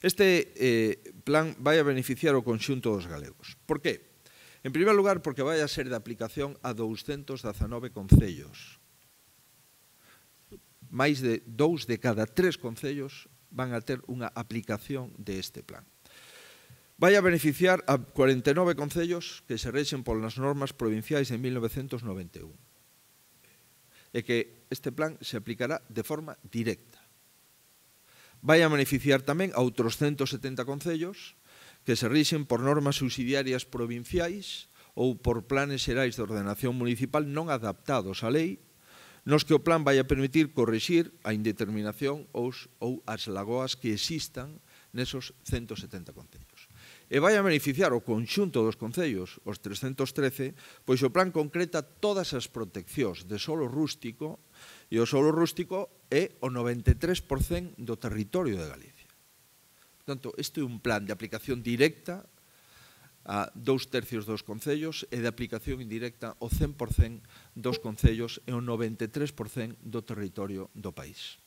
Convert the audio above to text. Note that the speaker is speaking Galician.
Este plan vai a beneficiar o conxunto dos galegos. Por que? En primeiro lugar, porque vai a ser de aplicación a 219 concellos. Mais de 2 de cada 3 concellos van a ter unha aplicación deste plan. Vai a beneficiar a 49 concellos que se rexen polas normas provinciais de 1991. E que este plan se aplicará de forma directa. Vai a beneficiar tamén a outros 170 concellos que se rixen por normas subsidiarias provinciais ou por planes xerais de ordenación municipal non adaptados á lei, nos que o plan vai a permitir corrixir a indeterminación ou as lagoas que existan nesos 170 concellos. E vai a beneficiar o conxunto dos concellos, os 313, pois o plan concreta todas as proteccións de solo rústico, e o solo rústico é o 93% do territorio de Galicia. Portanto, este é un plan de aplicación directa a 2/3 dos concellos e de aplicación indirecta ao 100% dos concellos e ao 93% do territorio do país.